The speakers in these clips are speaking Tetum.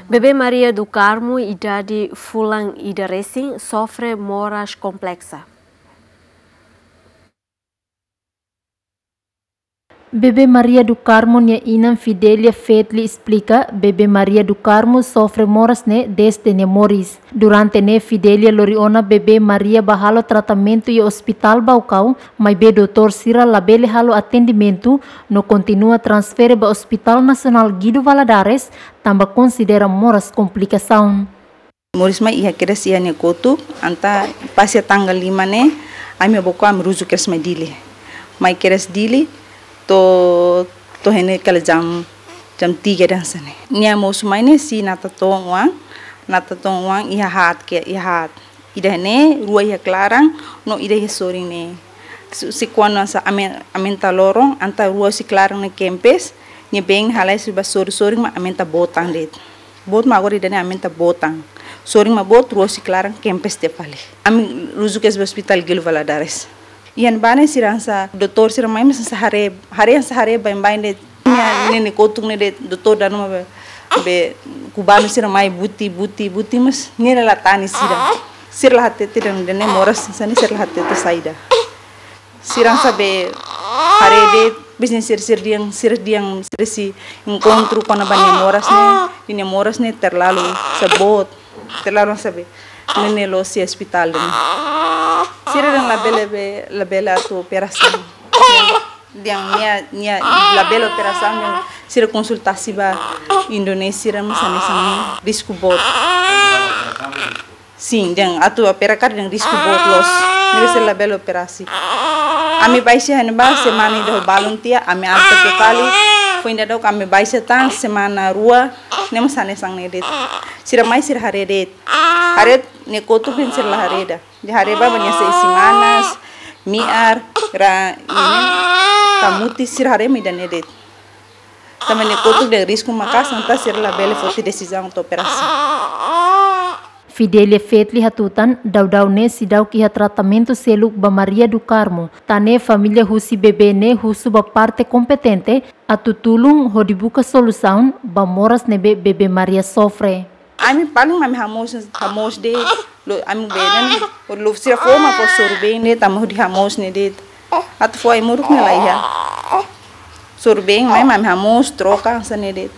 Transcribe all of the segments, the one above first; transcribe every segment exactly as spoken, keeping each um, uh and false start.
Bebé Maria do Carmo, idade fulan ida resin, sofre moras kompleksa. Bebé Maria do Carmo nia inan Fidelia Fetli esplika, bebé Maria do Carmo sofre moras ne'e dezde nia moris. Durante ne'e Fidelia lori ona bebé Maria ba halo tratamentu iha Ospitál Baucau, maibé doutór sira labele halo atendimentu, no kontinua transfere ba Ospitál Nasionál Guido Valadares, tanba konsidera moras komplikasaun. Moris mai iha kedas iha nia kotuk, entaun pasa tanggal lima ne'e, ami boko ami ruju kedas mai Dili. Mai kedas Dili, to'o, to'o iha ne'e kala jam, jam tiga hanesan ne'e. Nia mosu mai ne'e sei natoon oan, natoon oan iha haat ke, iha haat. Ida ne'e, rua iha klaran, no ida iha sorin ne'e. Se, se kuandu hanesan amen, aumenta loron, entaun rua husi klaran ne'e kempes, nia been halai husi ba sorin, sorin mak aumenta boot tan de'it. Boot mak agora ida ne'e aumenta boot tan. Sorin mak boot, rua husi klaran kempes tiha fali. Ami ruju kedas ba Ospitál Guido Valadares. Iha ne'ebá ne'e sira hanesan, doutór sira mai mak hanesan haree, haree hanesan haree baibain de'it. Nia, nia, nia kotuk ne'e de'it, doutór danu mak be, be kubanu sira mai buti, buti, buti, mas nia la hatene sira. Sira la hatete dehan ida ne'e moras hanesan ne'e, sira la hatete saida. Sira hanesan be haree de'it, bis ne'e sira, sira dehan, sira dehan, sira sei enkontru kona-ba nia moras ne'e, nia moras ne'e terlalu hanesan boot, terlalu hanesan be, ne'e, ne'e la'ós iha ospitál de'it. Sira dehan labele be, labele atu operasaun. Dehan nia, nia labele operasaun, dehan sira konsultasi ba Indonézia, mas hanesan risku boot. Sin, dehan atu opera karik dehan risku boot loos. Ne'ebé sira labele operasi. Ami baixa iha ne'ebá semana ida ho balun tiha, ami alta tiha fali. Foin dadauk ami baixa tan semana rua, ne'e mak hanesan ne'e de'it. Sira mai sira haree de'it. Haree nia kotuk dehan sira la haree ida. Dehan haree ba nia seis semanas, mi'ar, ra, ini, kamuti sira haree mak ida ne'e de'it. Tanba nia kotuk dehan risku maka'as, entaun sira labele foti desizaun atu operasi. Fidelia Fetli hatutan, daudaun ne'e seidauk iha tratamentu seluk ba Maria do Carmo. Tan ne'e família husi bebé ne'e husu ba parte kompetente atu tulun hodi buka solusaun ba moras ne'ebé bebé Maria sofre. Ami paling ami hamoos, hamoos de'it, lo ami benen, lo sira fó mak fó sorubeen de'it, ami hodi hamoos ne'e de'it. Atu fó ai-moruk ne'e la iha. Sorubeen mai mak ami hamoos troka hanesan ne'e de'it.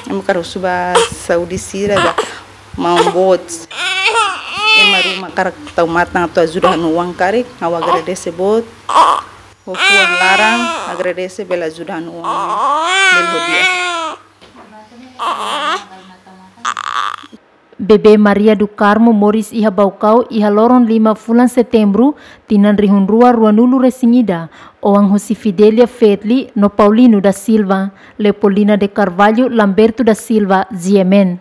Ami hakarak husu ba saúde sira ba maun boot. Ema ruma hakarak tau matan atu ajuda hanu oan karik, ha'u agradese boot. Ho fuan laran, agradese bele ajuda hanu oan. Bele hodi. Bebé Maria do Carmo moris iha Baucau iha loron lima fulan Setembru, tinan rihun rua ruanulu resin ida, oan husi Fidelia Fetli no Paulino da Silva, Leopoldina de Carvalho, Lamberto da Silva, G M N.